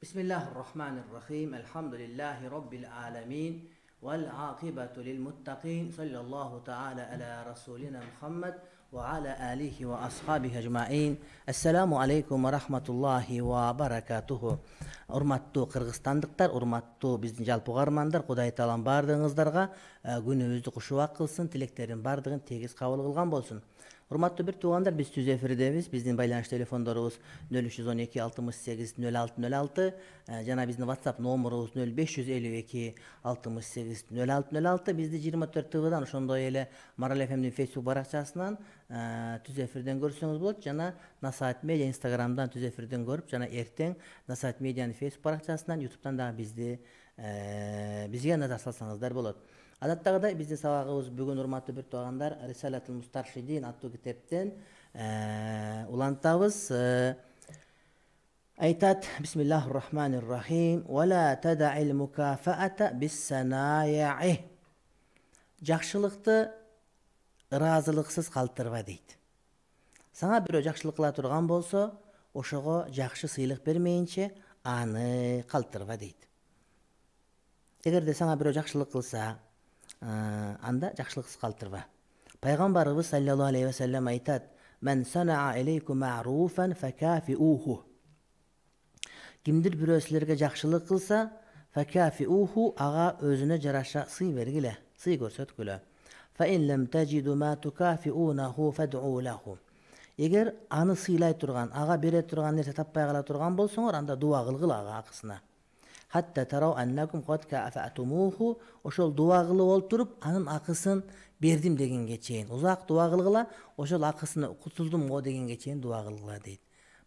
Bismillahirrahmanirrahim. Elhamdülillahi Rabbil alemin. Vel akibatu lil muttaqin. Sallallahu ta'ala ala Rasulina Muhammed ve ala alihi ve ashabihi ecma'in. Esselamu aleykum ve rahmatullahi ve barakatuhu. Урматтуу кыргызстандыктар, урматтуу биздин жалпы угармандар, Кудай таалам баардыгыңыздарга күнүбүздү кушубак кылсын, тилектердин баардыгын тегиз кабыл кылган болсун. Урматтуу бир туугандар, биз түз эфирдебиз. Биздин байланыш телефондорубуз 0312 68 0606 жана биздин WhatsApp номерубуз 0552 68 0606. Бизди 24 ТВдан ошондой эле Марал ФМдин Facebook баракчасынан түз эфирден көрсөңүз болот. Жана Насаат медиа Instagramдан түз эфирден көрүп, жана эртең Насаат медианын Facebook баракчасынан, YouTube'дан дагы бизге назар салсаңыздар болот. Адаттагыдай биздин сабагыбыз бүгүн урматтуу бир туугандар Рисалатул Мустаршидин аттуу китептен улантабыз. Айтат: Бисмиллахир-рахманир-рахим. Вала тадаил мукафаата бис-санаяи. Жакшылыкты ыраазылыксыз калтырба дейт. Сага бирөө жакшылык кыла турган болсо, ошого жакшы сыйлык бермейинче аны калтырба дейт. Эгерде сага бирөө жакшылык кылса, анда жакшылыксыз калтырба. Пайгамбарыбыз саллаллаху алейхи ва саллям айтат: "Мен санаа илейкум ма'руфан факафиуху." Кимдир бирөө силерге жакшылык кылса, факафиуху, ага өзүнө жараша сый бергиле, сый көрсөткүлө. Фа ин лам таҗиду ма tukафиунаху фад'у лаху. Эгер аны сыйлай турган, ага бере турган нерсе таппай кала турган болсоңор, анда дуа кылгыла ага акысына. Хатта тарау аннакум кад кафатумуху, ошол дуа кылып олтуруп, анын акысын бердим дегенге чейин. Узак дуа кылгыла, ошол акысына кутулдум го дегенге чейин дуа кылгыла дейт.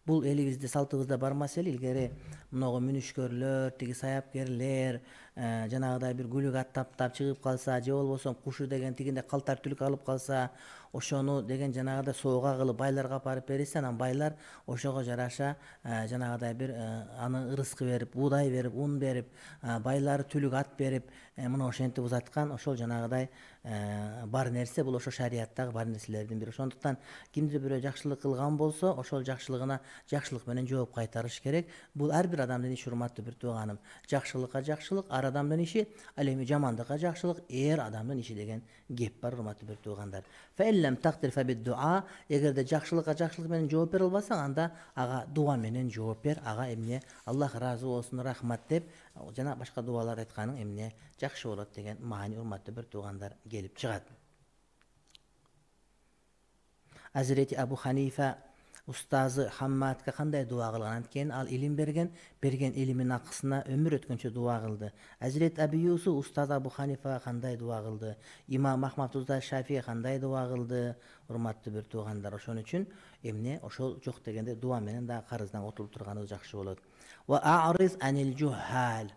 Бул элибизде салтыбызда бар маселе. Илгери мыногу мүнүшкөрлөр, тиги саяпкерлер, жанагыдай бир күлүк аттап чыгып калса, же болбосо кушу деген тигинде калтар түлүк алып калса, ошону деген жанагыдай соога кылып байларга апарып берсе, анан байлар ошого жараша жанагыдай бир аны ырыскы берип, буудай берип, ун берип, байлары түлүк ат берип, мына ошентип узаткан, ошол жанагыдай бар нерсе, бул ошо шариаттагы бар нерселердин бири. Ошондуктан кимдир бирөө жакшылык кылган болсо, ошол жакшылыгына жакшылык менен жооп кайтарыш керек. Бул ар бир адамдын иши, урматтуу бир тууганым. Жакшылыкка жакшылык ар адамдын иши, ал эми жамандыкка жакшылык эр адамдын иши деген кеп бар, урматтуу бир туугандар. Фаиллам тактир фабид-дуа. Эгерде жакшылыкка жакшылык менен жооп бере албасаң, анда ага дуа менен жооп бер. Ага эмне Аллах ыраазы болсун, рахмат деп жана башка дуалар айтканың эмне жакшы болот деген маани, урматтуу бир туугандар, келип чыгат. Азирети Абу Ханифа устазы Хаммадка кандай дуа кылган? Анткени ал илим берген илимин акысына өмүр өткөнчө дуа кылды. Азирет Аби Юсуф устаз Абу Ханифага кандай дуа кылды? Имам Ахмад устаз Шафии кандай дуа кылды? Урматтуу бир туугандар, ошон үчүн эмне ошол жок дегенде дуа менен да карыздан отулуп турганыбыз жакшы болот. Ва а'риз анил жухал.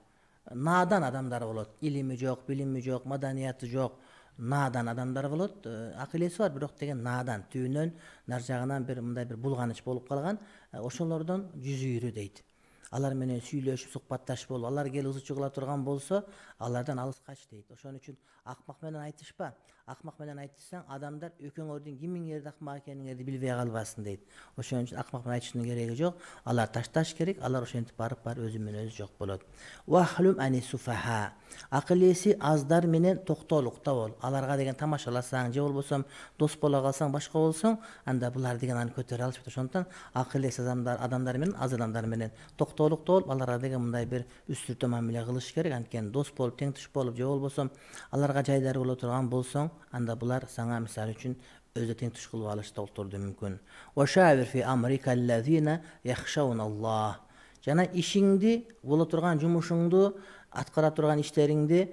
Надан адамдар болот. Илими жок, билими жок, маданияты жок, надан адамдар болот. Акылеси бар, бирок деген надан, түйүнөн нар жагынан бир мындай бир булганыч болуп калган. Ошолордон жүз үйрү дейт. Алар менен сүйлөшүп, сукбатташып болуп, алар келип ызы чыгыла турган болсо, алардан алыс кач дейт. Ошон үчүн акмак менен айтышпа. Акмак менен айтышсаң, адамдар экөөңөрдүн кимиңерди акмак экениңерди билбей калбасын дейт. Ошон үчүн акмак менен айтыштын кереги жок. Алар ташташ керек, алар ошентип барып өзү менен өзү жок болот. Вахлум ани суфаха. Акыл эси аздар менен токтоолукта бол. Аларга деген тамашаласаң, же болбосо дос боло калсаң, башка болсоң, анда булар деген аны көтөрө алышпайт. Ошондуктан акыл эси адамдар менен, аз адамдар менен токтоолукта болуп, аларга деген мындай бир үстүртө мамиле кылыш керек. Анткени дос болуп, тең туш болуп, же болбосо аларга жайдары боло турган болсоң, анда булар сага мисалы үчүн өзү тең туш кылып алышты олтурду мүмкүн. Ва шавир фи амрика аллазина яхшауналлах. Жана ишиңди, боло турган жумушуңду, аткара турган иштериңди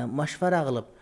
машвара кылып,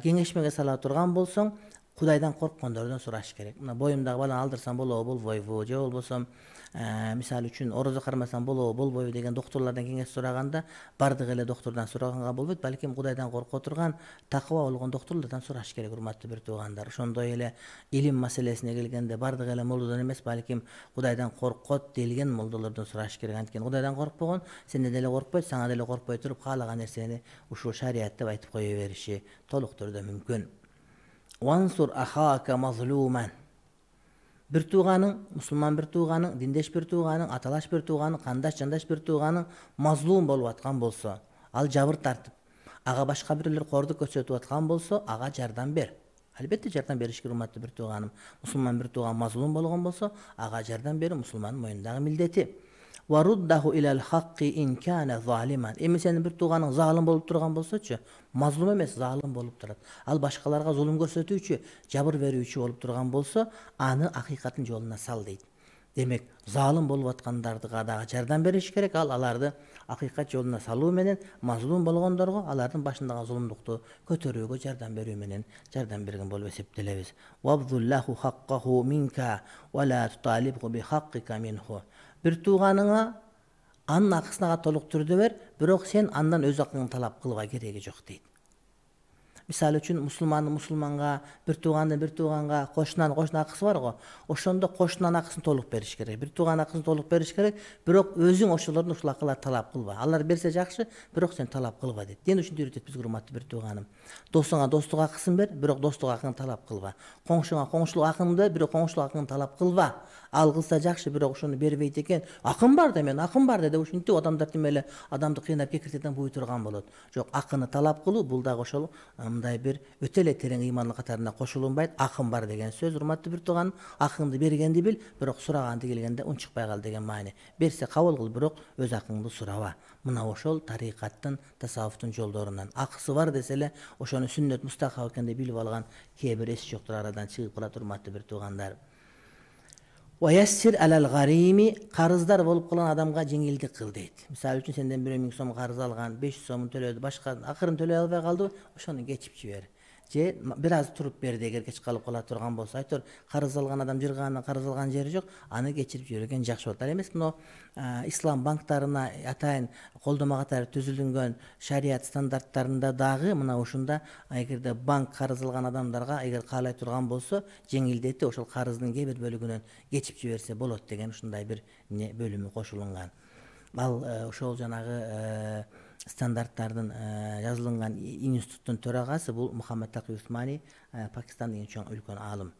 кеңешмеге сала турган болсоң, Кудайдан корккондордон сураш керек. Мына боюмдагы баланы алдырсам болобу, болбойбу, же болбосо мисалы үчүн орозо кармасам болобу, болбойбу деген доктурлардан кеңеш сураганда, бардык эле доктурдан сураганга болбойт, балким Кудайдан корко турган, такыба болгон доктурлардан сураш керек, урматтуу бир туугандар. Ошондой эле илим маселесине келгенде бардык эле молдодон эмес, балким Кудайдан коркот делген молдолордон сураш керек. Анткени Кудайдан коркпогон сенден деле коркпойт, сага деле коркпой туруп каалаган нерсени ушул шарият деп айтып кое бериши толук түрдө мүмкүн. Вансур ахака мазлуман. бир тууганың, мусулман бир тууганың, диндеш бир тууганың, аталаш бир тууганың, кандаш жандаш бир тууганың мазлум болуп аткан болсо, ал жабыр тартып, ага башка бирлер кордук көрсөтүп аткан болсо, ага жардам бер. Албетте жардам бериш керек, урматтуу бир тууганым. Мусулман бир тууган мазлум болгон болсо, ага жардам берүү мусулмандын мойнундагы милдети. Варуддаху илал хакки ин кана залиман. Эми сенин бир тууганың залым болуп турган болсочу, мазлум эмес, залым болуп турат. Ал башкаларга зулум көрсөтүүчү, жабыр берүүчү болуп турган болсо, аны акыйкаттын жолуна сал дейт. Демек, залым болуп аткандардыга дагы жардам бериш керек. Ал аларды акыйкат жолуна салуу менен, мазлум болгондорго алардын башындагы зулумдукту көтөрүүгө жардам берүү менен жардам берген болуп эсептелебиз. Вабдуллаху хаккаху минка ва ла туталибху би хаккика минху. Бир тууганыңа анын акысын ага толук түрдө бер, бирок сен андан өз акыңды талап кылба, кереги жок дейт. Мисалы үчүн мусулманга, бир тууганга, кошунан акысы бар го. Ошондо кошунан акысын толук бериш керек. Бир тууган акысын толук бериш керек, бирок өзүң ошолордун ушул акыларды талап кылба. Алар берсе жакшы, бирок сен талап кылба дейт. Дин ушинтип үйрөтөт бизге, урматтуу бир тууганым. Досуңа достук акысын бер, бирок достук акыңды талап кылба. Коңшуңа коңшулук акыңды бер, бирок коңшулук акыңды талап кылба. Ал кылса жакшы, бирок ошону бербейт экен. Акым бар да, мен акым бар деп ушинтип адамдар тимеле адамды кыйнап кекиртеден буй турган болот. Жок, акыны талап кылуу бул дагы ошол мындай бир өтө эле терең ыймандын катарына кошулунбайт. Акым бар деген сөз, урматтуу бир тууган, акыңды бергенди бил, бирок сураганды келгенде унчукпай кал деген маани. Берсе кабыл кыл, бирок өз акыңды сураба. Мына ошол тарикаттын, тасаввуфтун жолдорунан. Акысы бар десе эле ошону сүннөт мустахаб экенин билип алган кээ бир эс жоктор арадан чыгып калат, урматтуу бир туугандар. Ваяссир алал гарими, карыздар болуп калган адамга жеңилдик кыл дейт. Мисалы үчүн сенден 1000 сом карыз алган, 500 сомун төлөдү, башка акырын төлөй албай калды, ошону кечип жибер. Же бир аз туруп берди, эгер кеч калып кала турган болсо. Айтор, карыз алган адам жыргаандан карыз алган жери жок, аны кечирип жиберген жакшы болот. Ал эмес мына ислам банктарына атайын колдомо катары түзүлгөн шарият стандарттарында дагы мына ушунда эгерде банк карыз алган адамдарга эгер каалай турган болсо, жеңилдети ошол карыздын кээ бир бөлүгүнөн кечип жиберсе болот деген ушундай бир бөлүмү кошулунган. Ал ошол жанагы стандарттардын жазылган институттун төрагасы бул Мухаммад Таки Усмани, Пакистандын чоң үлкөн аалым.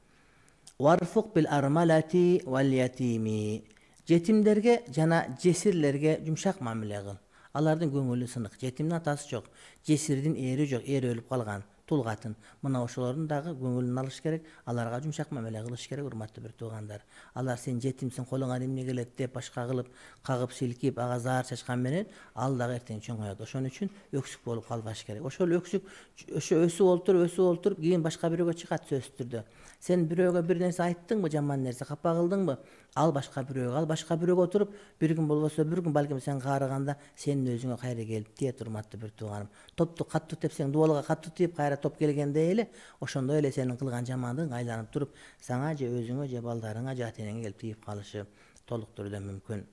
Варфук бил армалати вал ятими. Жетимдерге жана жесирлерге жумшак мамиле кыл. Алардын көңүлү сынык. Жетимдин атасы жок, жесирдин эри жок, эри өлүп калган. Тулгатын. Мына ошолордун дагы көңүлүн алыш керек, аларга жумшак мамиле кылыш керек, урматтуу бир туугандар. Алар сен жетимсиң, колуңа эмне келет деп башка кылып, кагып силкип, ага заар чачкан менен ал дагы эртең чоңоет. Ошон үчүн өксүк болуп калбаш керек. Ошол өксүк өсүп олтуруп, кийин башка бирөөгө чыгат сөзсүз түрдө. Сен бирөөгө бир нерсе айттыңбы, жаман нерсе капа кылдыңбы, ал башка бирөөгө отуруп, бир күн болбосо бир күн балким сен каарыганда сенин өзүңө кайра келип тиет, урматтуу бир тууганым. Топту каттуу тепсең, дубалга каттуу тийип, кайра топ келгенде эле ошондой эле сенин кылган жамандыгың айланып туруп, сага же өзүңө же балдарыңа же ата-энеңе келип тийип калышы толук түрдө мүмкүн.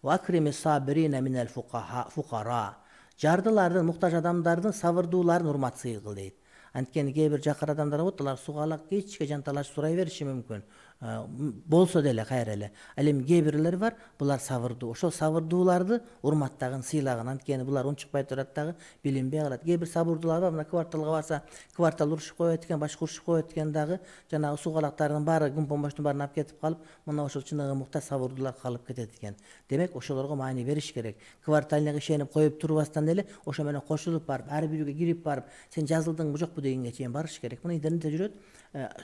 Ва акримис сабирина минал фукара. Жардылардын, муктаж адамдардын сабырдууларын урматсыз кыл дейт. Анткени кээ бир жакыр адамдар болот, алар сугалак кечке жанталаш сурай бериши мүмкүн. Болсо деле кайра эле. Ал эми кээ бирлер бар, булар сабырдуу. Ошол сабырдууларды урматтагын, сыйлагын. Анткени булар унчукпай турат дагы, билинбей калат. Кээ бир сабырдуулар бар, мына кварталга барса, квартал урушуп коет экен, башка урушуп коет экен дагы, жанагы сугалактардын баары, күн помоштун баарын алып кетип калып, мына ошол чыныгы муктаж сабырдуулар калып кетет экен. Демек, ошолорго маани бериш керек. Кварталга ишенип коюп турбастан эле, ошо менен кошулуп барып, ар бирөөгө кирип барып, сен жазылдыңбы жокпу дегенге чейин барыш керек. Мына интернетте жүрөт,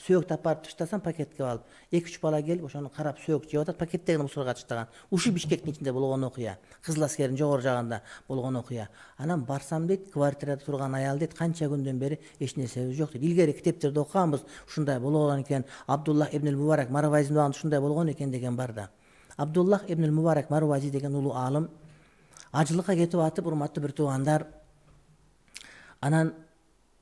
сөөк тапап таштасаң пакетке алып, 2-3 бала келип ошону карап сөөк жеп атат, пакеттеги мусорго таштаган. Ушу Бишкектин ичинде болгон окуя, Кызыл аскердин жогору жагында болгон окуя. Анан барсам дейт, квартирада турган аял дейт, канча күндөн бери эч нерсебиз жок дейт. Илгери китептерде окуганбыз, ушундай болгон экен. Абдуллах ибн Мубарак Марвазидің убагында ушундай болгон экен деген бар да. Абдуллах ибн Мубарак Марвази деген улуу аалым ажылыкка кетип атып, урматтуу бир туугандар, анан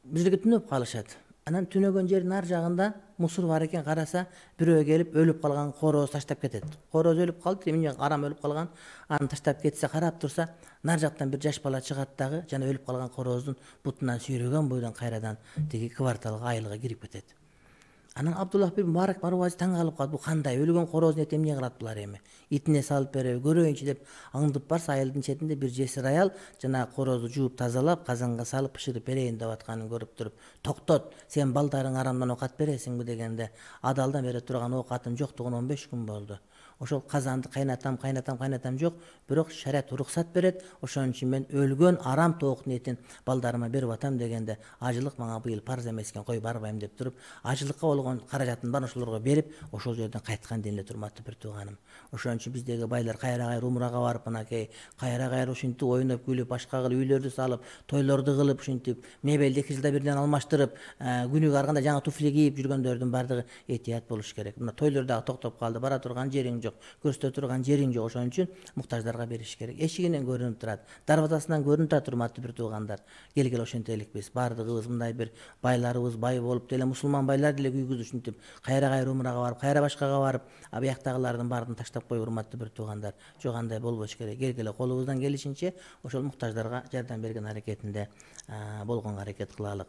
бизге түнөп калышат. Анан түнөгөн жердин ар жагында мусор бар экен, караса бирөө келип өлүп калган короз таштап кетет. Короз өлүп калды, эмне арам өлүп калган, аны таштап кетсе, карап турса, нар жактан бир жаш бала чыгат дагы, жана өлүп калган короздун бутунан сүйрөгөн бойдон кайрадан тиги кварталга айылга кирип кетет. Анан Абдуллах ибн Мубарак Марвази таң калып калды. Бул кандай? Өлгөн корозун эти эмне кылат булар эми? Итине салып береби, көрөйүнчү деп аңдып барса, айылдын четинде бир жесир аял жана корозду жууп тазалап, казанга салып бышырып берейин деп атканын көрүп туруп, "Токтот, сен балдарың арамдан оокат бересиңби?" дегенде, "Адалдан бере турган оокатым жоктугуна 15 күн болду. Ошол казанды кайнатам жок, бирок шарият уруксат берет. Ошон үчүн мен өлгөн арам тооктун этин балдарыма берип атам" дегенде, "Ажылык мага быйыл парз эмес экен, кой барбайм" деп туруп, ажылыкка болгон каражатын баарын ошолорго берип, ошол жерден кайткан дейин эле урматтуу бир тууганым. Ошон үчүн биздеги байлар кайра-кайра умрага барып, мынакей кайра-кайра ушинтип ойноп күлүп, башка кылып, үйлөрдү салып, тойлорду кылып, ушинтип мебелди 2 жылда бирден алмаштырып, күнүгө ар кандай жаңы туфли кийип жүргөндөрдүн баардыгы этият болуш керек. Мына тойлор дагы токтоп калды, бара турган жериң жок, көрсөтө турган жериң жок. Ошон үчүн муктаждарга бериш керек. Эшигинен көрүнүп турат, дарбазасынан көрүнүп турат, урматтуу бир туугандар. Келгиле ошентеликпиз. Баардыгыбыз мындай бир байларыбыз бай болуп деле, мусулман байлар деле күйгүз ушинтип кайра-кайра умрага барып, кайра башкага барып, бияктагылардын баарын таштап коюп, урматтуу бир туугандар. Жок, андай болбош керек. Келгиле колубуздан келишинче ошол муктаждарга жардам берген аракетинде болгонго аракет кылалык.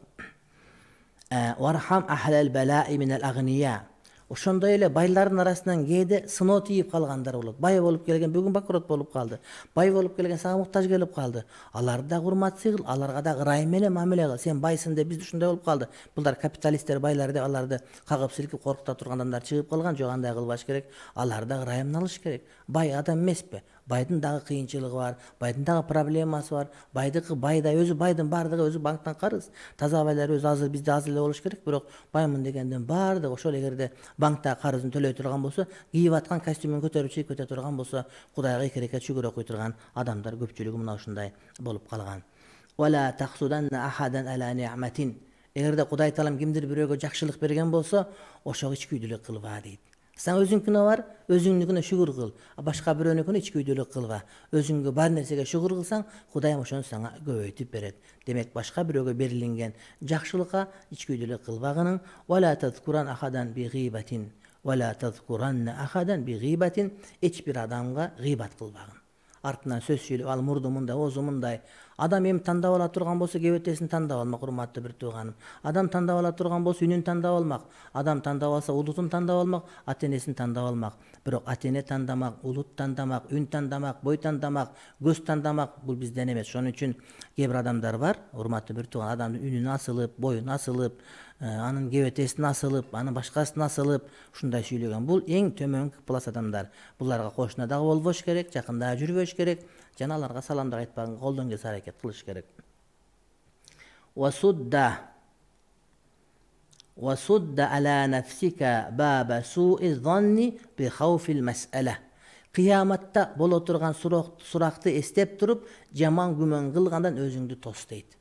Вархам ахлал балаи минал агния. Ошондой эле байлардын арасынан кээде сыноо тийип калгандар болот. Бай болуп келген бүгүн банкрот болуп калды. Бай болуп келген сага муктаж келип калды. Аларды да урмат кыл, аларга да ырайым менен мамиле кыл. Сен байсың деп бизде ушундай болуп калды. Булар капиталисттер, байлар деп аларды кагып силкип коркута турган адамдар чыгып калган. Жок, андай кылбаш керек. Аларды да ырайымын алыш керек. Бай адам эмеспи? Байдын дагы кыйынчылыгы бар, байдын дагы проблемасы бар. Байдыкы байдай, өзү байдын баардыгы өзү банктан карыз. Таза байлар өзү азыр бизде аз эле болуш керек, бирок баймын дегенден баардыгы ошол эгерде банкта карызын төлөй турган болсо, кийип аткан костюмун көтөрүп чыгып кете турган болсо, Кудайга 2 рекат шүгүр окуй турган адамдар көпчүлүгү мына ушундай болуп калган. Вала тахсуданна ахадан ала ни'матин. Эгерде Кудай таалам кимдир бирөөгө жакшылык берген болсо, ошого ичкүйдүлүк кылба дейт. Сен өзүңкүнө бар, өзүңнүкүнө шүгүр кыл. Башка бирөөнүкүнө ичкүйдүлүк кылба. Өзүңгө бар нерсеге шүгүр кылсаң, Кудайым ошону сага көбөйтүп берет. Демек, башка бирөөгө берилинген жакшылыкка ичкүйдүлүк кылбагының. Вала тазкуран ахадан би гыйбатин. Вала тазкуранна ахадан би гыйбатин. Эч бир адамга гыйбат кылбагын. Артынан сөз сүйлөп, ал мурду мындай, озу мындай. Адам эми тандап ала турган болсо, кебетесин тандап алмак, урматтуу бир тууганым. Адам тандап ала турган болсо, үнүн тандап алмак. Адам тандап алса, улутун тандап алмак, ата-энесин тандап алмак. Бирок ата-эне тандамак, улут тандамак, үн тандамак, бой тандамак, көз тандамак бул бизден эмес. Ошон үчүн кээ бир адамдар бар, урматтуу бир тууган, адамдын үнүн асылып, боюн асылып, анын кебетесин асылып, анын башкасын асылып, ушундай сүйлөгөн. Бул эң төмөнкү класс адамдар. Буларга кошуна дагы болбош керек, жакында жүрбөш керек, жана аларга салам да айтпаган, колдон келсе аракет кылыш керек. Wasudda ala nafsika baba su'i zanni bi khawfil mas'ala. Кыяматта боло турган суракты эстеп туруп, жаман күмөн кылгандан өзүңдү тос дейт.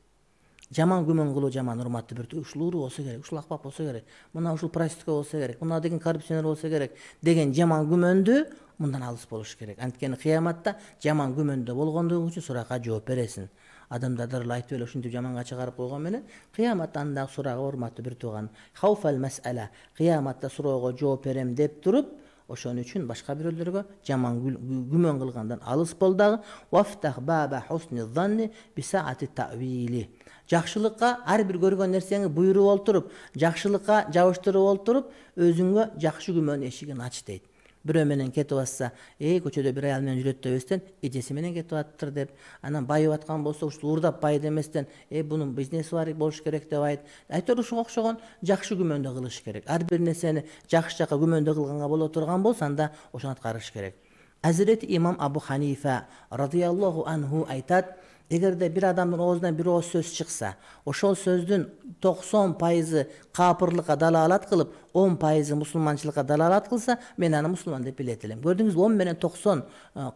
Жаман күмөн кылуу жаман, урматтуу бир, ушул уру болсо керек, ушул акпак болсо керек, мына ушул проститутка болсо керек, мына деген коррупционер болсо керек деген жаман күмөндү мындан алыс болуш керек. Анткени кыяматта жаман күмөндө болгондугуң үчүн суракка жооп бересиң. Адамдар эле айтып эле ушинтип жаманга чыгарып койгон менен кыяматта андагы сурагы, урматтуу бир тууган, хауфал мас'ала, кыяматта суроого жооп берем деп туруп, ошон үчүн башка бирөөлөргө жаман күмөн кылгандан алыс бол дагы. Вафтах баба хусни занни би саати ta'wili. Жакшылыкка ар бир көргөн нерсеңи буйруп олтуруп, жакшылыкка жабыштырып олтуруп, өзүңө жакшы күмөн эшигин ач дейт. Бирөө менен кетип атса, көчөдө бир аял менен жүрөт дебестен, эжеси менен кетип аттыр деп, анан байып аткан болсо, ушул уурдап бай деместен, бунун бизнеси бар болуш керек деп айт. Айтор ушуга окшогон жакшы күмөндө кылыш керек. Ар бир нерсени жакшы жака күмөндө кылганга боло турган болсо, анда ошону аткарыш керек. Азирети имам Абу Ханифа радияллаху анху айтат, эгерде бир адамдын оозунан бир ооз сөз чыкса, ошол сөздүн 90% капырлыкка далалат кылып, 10% мусулманчылыкка далалат кылса, мен аны мусулман деп билет элем. Көрдүңүзбү, 10 менен 90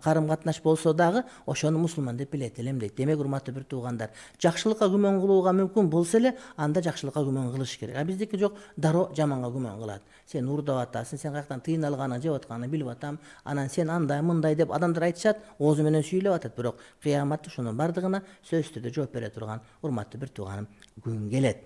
карым-катнаш болсо дагы ошону мусулман деп билет элем дейт. Демек, урматтуу бир туугандар, жакшылыкка күмөн кылууга мүмкүн болсо эле, анда жакшылыкка күмөн кылыш керек. Биздики жок, дароо жаманга күмөн кылат. Сен уурдап атасың, сен каяктан тыйын алганын, жеп атканын билип атам, анан сен андай мындай деп адамдар айтышат, оозу менен сүйлөп атат, бирок кыяматта ошонун бардыгына сөзсүз түрдө жооп бере турган урматтуу бир тууганым күн келет.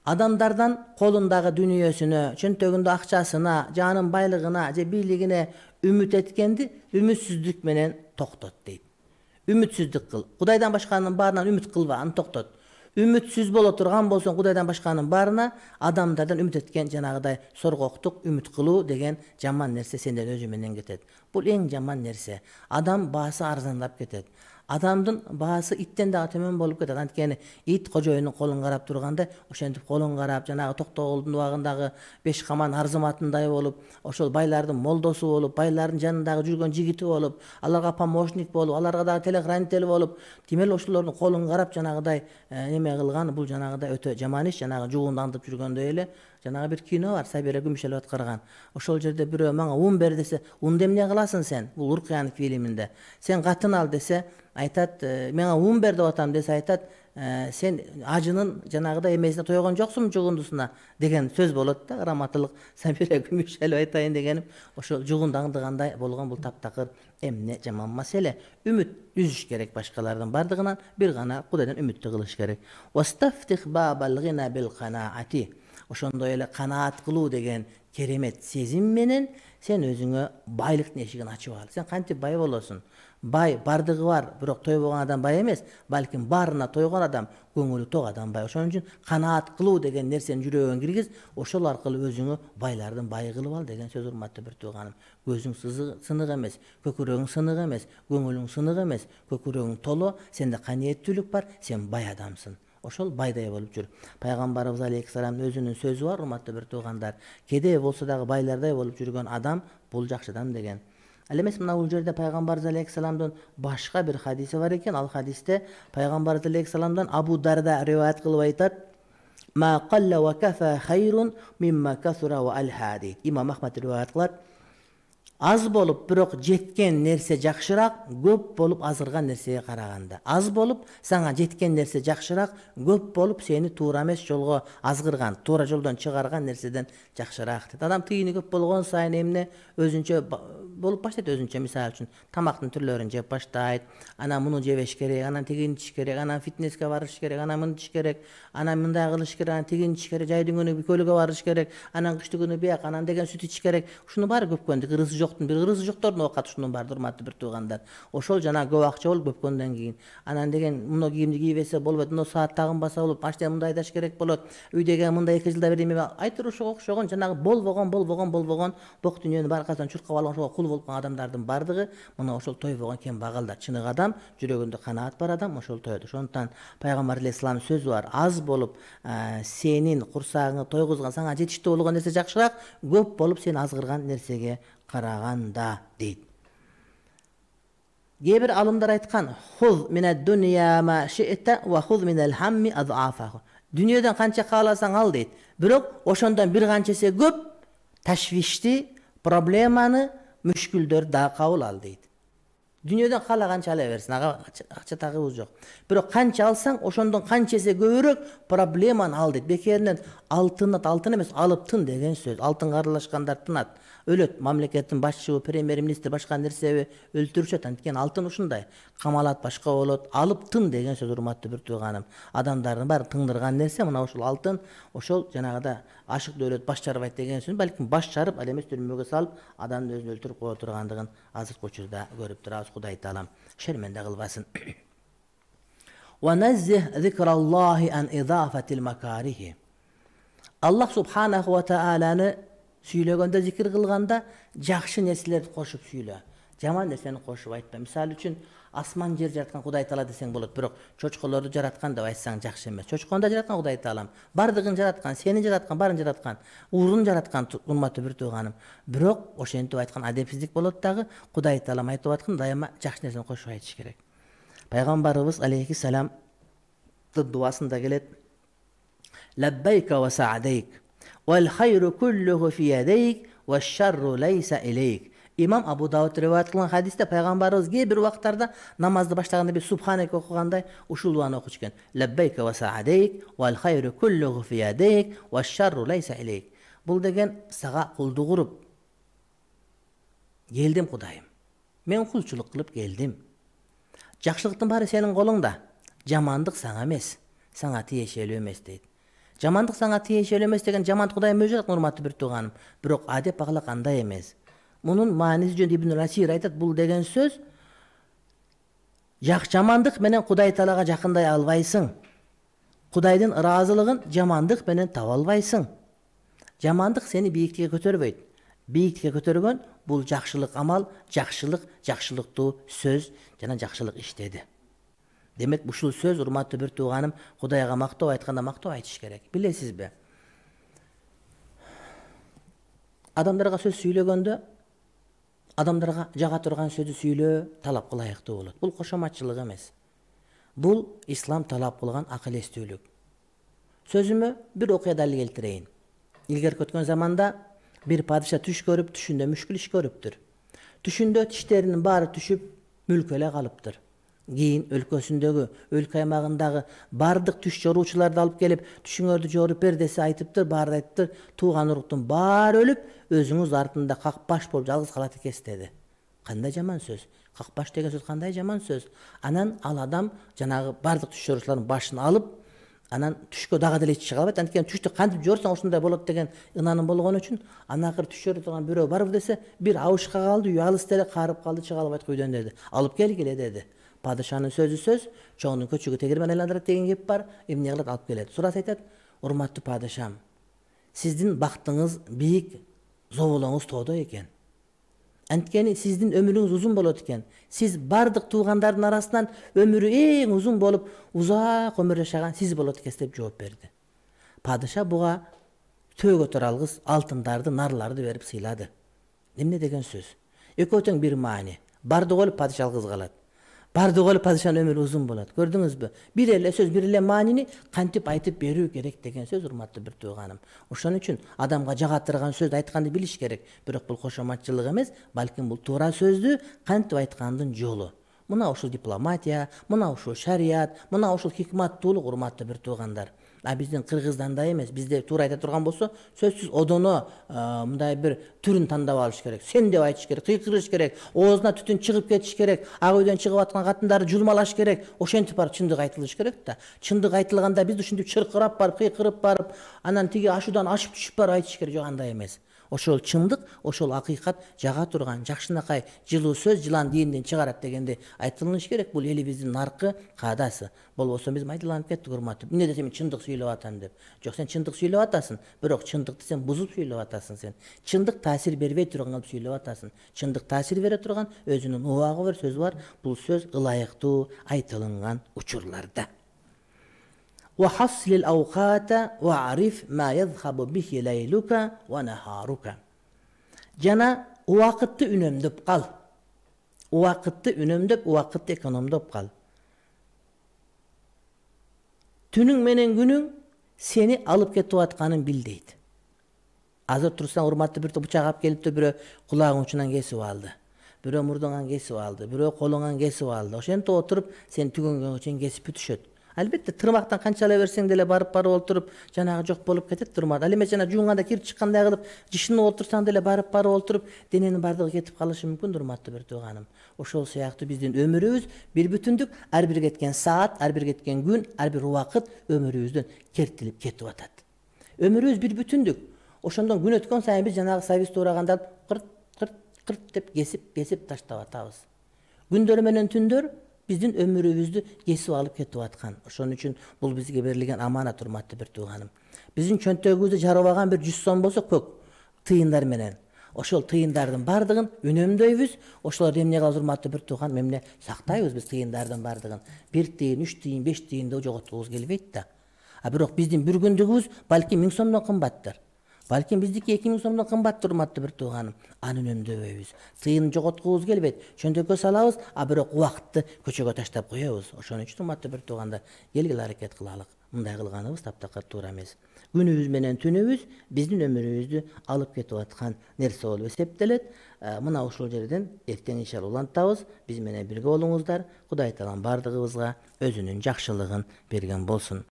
Адамдардан колундагы дүнүйөсүнө, чөнтөгүндө акчасына, жанын байлыгына же бийлигине үмүт эткенди үмүтсүздүк менен токтот дейт. Үмүтсүздүк кыл. Кудайдан башканын баарынан үмүт кылба, аны токтот. Үмүтсүз боло турган болсоң Кудайдан башканын баарына адамдардан үмүт эткен жанагыдай соргоктук, үмүт кылуу деген жаман нерсе сенден өзү менен кетет. Бул эң жаман нерсе. Адам баасы арзандап кетет. Адамдын баасы иттен дагы төмөн болуп кетет. Анткени ит кожоюнун колун карап турганда, ошентип колун карап, жанагы Токтогулдун убагындагы беш каман арзыматындай болуп, ошол байлардын молдосу болуп, байлардын жанындагы жүргөн жигити болуп, аларга помощник болуп, аларга дагы телохранитель болуп, тимел ошолордун колун карап жанагыдай неме кылган, бул жанагыдай өтө жаман иш. Жанагы жугунду аңдып жүргөндөй эле. Жанагы бир кино бар, Сабира Күмүшел аткарган. Ошол жерде бирөө мага ун бер десе, унду эмне кыласың сен? Бул Уркуянов фильминде. Сен катын ал десе, айтат, мага ун бер деп атам десе айтат, сен ажынын жанагыдай эмесине тойгон жоксуңбу жугундусуна деген сөз болот да. Раматылык Сабира Күмүшел айтайын дегеним ошол жугунду аңдыгандай болгон. Бул таптакыр эмне жаман маселе. Үмүт үзүш керек башкалардын бардыгынан, бир гана Кудайдан үмүттү кылыш керек. Вастафтих бабал гина бил канаати. Ошондой эле канаат кылуу деген керемет сезим менен сен өзүңө байлыктын эшигин ачып ал. Сен кантип бай болосуң? Бай бардыгы бар, бирок тойбогон адам бай эмес, балким баарына тойгон адам, көңүлү ток адам бай. Ошон үчүн канаат кылуу деген нерсени жүрөгүңө киргиз, ошол аркылуу өзүңө байлардын байы кылып ал деген сөз, урматтуу бир тууганым. Көзүң сынык эмес, көкүрөгүң сынык эмес, көңүлүң сынык эмес, көкүрөгүң толо, сенде каниеттүүлүк бар, сен бай адамсың. Ошол байдай болуп жүр. Пайгамбарыбыз алейхиссаламдын өзүнүн сөзү бар, урматтуу бир туугандар. Кедей болсо дагы байлардай болуп жүргөн адам бул жакшы адам деген. Ал эмес мына бул жерде Пайгамбарыбыз алейхиссаламдын башка бир хадиси бар экен. Ал хадисте Пайгамбарыбыз алейхиссаламдан Абу Дарда риваят кылып айтат: "Ма қалла ва кафа хайрун мимма касура ва алхади." Имам Ахмад риваят кылат. Аз болуп, бирок жеткен нерсе жакшыраак, көп болуп азырган нерсеге караганда. Аз болуп, сага жеткен нерсе жакшыраак, көп болуп, сени туура эмес жолго азгырган, туура жолдон чыгарган нерседен жакшыраак дейт. Адам тыйыны көп болгон сайын эмне өзүнчө болуп баштайт, өзүнчө. Мисалы үчүн тамактын түрлөрүн жеп баштайт. Анан муну жебеш керек, анан тигини ичиш керек, анан фитнеске барыш керек, анан мынтыш керек, анан мындай кылыш керек, анан тигини ичиш керек, жайдын күнү көлгө барыш керек, анан кыштын күнү бияк, анан деген сүт ичиш керек. Ушунун баары көпкөндүк, ырысы жоктун бир ырысы жоктордун оокаты ушунун баары, урматтуу бир туугандар. Ошол жана көп акча болуп көпкөндөн кийин. Анан деген муну кийимди кийбесе болбойт, муну саат тагынбаса болот, машина мындай айдаш керек болот, үйдөгү мындай 2 жылда бир эме айтыр ошого окшогон жанагы болбогон бок дүйнөнүн баары аркасынан чуркап алган, ошого кул болуп калган адамдардын бардыгы мына ошол тойбогон кембагалдар. Чыныгы адам, жүрөгүндө канаат бар адам ошол тоет. Ошондуктан Пайгамбар алейхиссаламдын сөзү бар: аз болуп сенин курсагыңды тойгузган, сага жетиштүү болгон нерсе жакшыраак, көп болуп сени азгырган нерсеге караганда дейт. Кээ бир алымдар айткан: "Хуз минад дунья ма ши'та ва хуз минал хамми ад'афаху." Дүйнөдөн канча кааласаң ал дейт. Бирок ошондон бир канча эсе көп ташвишти, проблеманы, мүшкүлдөрдү дагы кабыл ал дейт. Дүйнөдөн каалаганча ала берсин, ага акча тагыбыз жок. Бирок канча алсаң, ошондон канча эсе көбүрөөк проблеманы ал дейт. Бекеринен алтын эмес, алып тын деген сөз. Алтынга аралашкандар тынат. Өлөт, мамлекеттин башчыбы, премьер-министр башка нерсеби өлтүрүшөт. Анткени алтын ушундай. Камалат башка болот. Алып тын деген сөз, урматтуу бир тууганым. Адамдардын баары тыңдырган нерсе мына ошол алтын, ошол жанагыда ашык дөөлөт баш чарбайт деген сөз. Балким баш чарып, ал эмес түрмөгө салып, адамды өзүн өлтүрүп кое тургандыгын азыркы учурда көрүп турабыз. Кудай таалам шерменде кылбасын. Ва наззих зикраллахи ан идафатил макарихи. Аллах субханаху ва тааланы сүйлөгөндө, зикир кылганда жакшы нерселерди кошуп сүйлө. Жаман нерсени кошуп айтпа. Мисалы үчүн асман жер жараткан Кудай таала десең болот, бирок чочколорду жараткан деп айтсаң жакшы эмес. Чочкону да жараткан Кудай таалам. Бардыгын жараткан, сени жараткан, баарын жараткан, уурун жараткан, урматтуу бир тууганым. Бирок ошентип айткан адепсиздик болот дагы. Кудай таалам айтып аткан дайыма жакшы нерсени кошуп айтыш керек. Пайгамбарыбыз алейхиссалам дуасында келет: "Лаббайка ва са'дайк, вал хайру куллуху фи ядайк, ва шарру лайса илейк." Имам Абу Дауд риваят кылган хадисте пайгамбарыбыз кээ бир убактарда намазды баштаганда бир субханек окугандай ушул дуаны окуч экен: "Лаббайка ва са'дайк, вал хайру куллуху фи ядайк, ва шарру лайса илейк." Бул деген сага кулдук уруп келдим Кудайым. Мен кулчулук кылып келдим. Жакшылыктын баары сенин колуңда. Жамандык сага эмес, сага тиешелүү эмес дейт. Жамандык сага тиешелүү эмес деген жамандык Кудайым өзү айткан, урматтуу бир тууганым. Бирок адеп багалак андай эмес. Мунун мааниси жөнүндө Ибн Расир айтат, бул деген сөз Жамандык менен Кудай Таалага жакындай албайсың. Кудайдын ыраазылыгын жамандык менен таба албайсың. Жамандык сени бийиктикке көтөрбөйт. Бийиктикке көтөргөн бул жакшылык амал, жакшылыктуу сөз жана жакшылык иштеди. Демек ушул сөз, урматтуу бир тууганым, Кудайга мактоо айтканда мактоо айтыш керек. Билесизби? Адамдарга сөз сүйлөгөндө адамдарга жага турган сөздү сүйлөө талапка ылайыктуу болот. Бул кошоматчылык эмес. Бул ислам талап кылган акыл эстүүлүк. Сөзүмө бир окуя далил келтирейин. Илгерки өткөн заманда бир падыша түш көрүп, түшүндө мүшкүл иш көрүптүр. Түшүндө тиштеринин баары түшүп, мүлкү эле калыптыр. Кийин өлкөсүндөгү, өлкө аймагындагы бардык түш жоруучуларды алып келип, түшүңөрдү жоруп бер десе айтыптыр, баары айтыптыр, тууган уруктун баары өлүп, өзүңүз артында какпаш болуп жалгыз калат экенсиз деди. Кандай жаман сөз. Какпаш деген сөз кандай жаман сөз. Анан ал адам жанагы бардык түш жоруучулардын башын алып, анан түшкө дагы деле чыга албайт. Анткени түштү кантип жорсоң ошондой болот деген ынанын болгон үчүн анакыр түш көрүп турган бирөө барбы десе, бир абышка калды, үй алыс деле карып калды, чыга албайт үйдөн деди. Алып келгиле деди. Падышанын сөзү сөз, чоңдун көчөгү тегермен айландырат деген кеп бар, эмне кылат алып келет. Сураса айтат: "Урматтуу падышам, сиздин бактыңыз бийик, зоболоңуз тоодо экен. Анткени сиздин өмүрүңүз узун болот экен. Сиз бардык туугандардын арасынан өмүрү эң узун болуп, узак өмүр жашаган сиз болот экенсиз" деп жооп берди. Падыша буга төөгө туралгыс алтындарды, нарларды берип сыйлады. Эмне деген сөз? Экөө тең бир маани. Бардыгы өлүп, падыша жалгыз калат. Бардыгы өлүп, падышанын өмүрү узун болот. Көрдүңүзбү? Бир эле сөз, бир эле маанини кантип айтып берүү керек деген сөз, урматтуу бир тууганым. Ошон үчүн адамга жага турган сөздү айтканды билиш керек. Бирок бул кошоматчылык эмес, балким бул туура сөздү кантип айткандын жолу. Мына ушул дипломатия, мына ушул шарият, мына ушул хикматтуулук, урматтуу бир туугандар. Биздин Кыргыздандай эмес. Бизде туура айта турган болсо, сөзсүз одоно мындай бир түрүн тандап алыш керек. Сен деп айтыш керек, кыйкырыш керек, оозуна түтүн чыгып кетиш керек, ак үйдөн чыгып аткан катындарды жулмалаш керек. Ошентип барып чындык айтылыш керек да. Чындык айтылганда биз ушинтип чыркырап барып, кыйкырып барып, анан тиги ашуудан ашып түшүп барып айтыш керек. Жок, андай эмес. Ошол чындык, ошол акыйкат жага турган жакшынакай жылуу сөз жылан дийинден чыгарат дегенде айтылыш керек. Бул элибиздин наркы каадасы. Болбосо биз майдаланып кеттик, урматтуу. Эмне десем мен чындык сүйлөп атам деп. Жок, сен чындык сүйлөп атасың, бирок чындыкты сен бузуп сүйлөп атасың сен. Чындык таасир бербей турган кылып сүйлөп атасың. Чындык таасир бере турган өзүнүн убагы бар сөзү бар. Бул сөз ылайыктуу айтылган учурларда. وحصل الأوقات وعرف ما يذهب به ليلك ونهارك. Жана убакытты үнөмдөп кал. Убакытты үнөмдөп, убакытты экономдоп кал. Түнүң менен күнүң сени алып кетип атканын бил дейт. Азыр турсаң, урматтуу бир бычак алып келиптир, бирөө кулагың учунан кесип алды. Бирөө мурдуңан кесип алды, бирөө колуңан кесип алды. Ошентип отуруп, сен түгөнгөнгө чейин кесип бүтүшөт. Албетте тырмактан канчалай берсең деле барып отуруп жанагы жок болуп кетет тырмак. Ал эми жана жуунганда кирип чыккандай кылып жышынып отурсаң деле барып отуруп дененин бардыгы кетип калышы мүмкүн, урматтуу бир тууганым. Ошол сыяктуу биздин өмүрүбүз бир бүтүндүк, ар бир кеткен саат, ар бир кеткен күн, ар бир убакыт өмүрүбүздөн кертилип кетип атат. Өмүрүбүз бир бүтүндүк. Ошондон күн өткөн сайын биз жанагы сабиз туураганда кырт деп кесип таштап атабыз. Күндөр менен түндөр биздин өмүрүбүздү кесип алып кетип аткан. Ошон үчүн бул бизге берилген аманат, урматтуу бир тууганым. Биздин чөнтөгүбүздү жарыбаган бир 100 сом болсо көк тыйындар менен. Ошол тыйындардын бардыгын үнөмдөйбүз. Ошолорду эмне кылабыз, урматтуу бир тууган, эмне сактайбыз биз тыйындардын бардыгын. 1 тыйын, 3 тыйын, 5 тыйынды жоготкубуз келбейт да. Бирок биздин бир күндүгүбүз балким 1000 сомдон кымбаттыр. Балким биздики 2000 сомдон кымбаттыр, урматтуу бир тууганым. Аны үнөмдөбөйбүз. Тыйын жоготкубуз келбейт. Чөнтөккө салабыз, бирок убакытты көчөгө таштап коебуз. Ошон үчүн, урматтуу бир туугандар, келгиле аракет кылалык. Мындай кылганыбыз таптакыр туура эмес. Күнүбүз менен түнүбүз биздин өмүрүбүздү алып кетип аткан нерсе болуп эсептелет. Мына ушул жерден эртең иншалла улантабыз. Биз менен бирге болуңуздар. Кудай Таалам бардыгыбызга өзүнүн жакшылыгын берген болсун.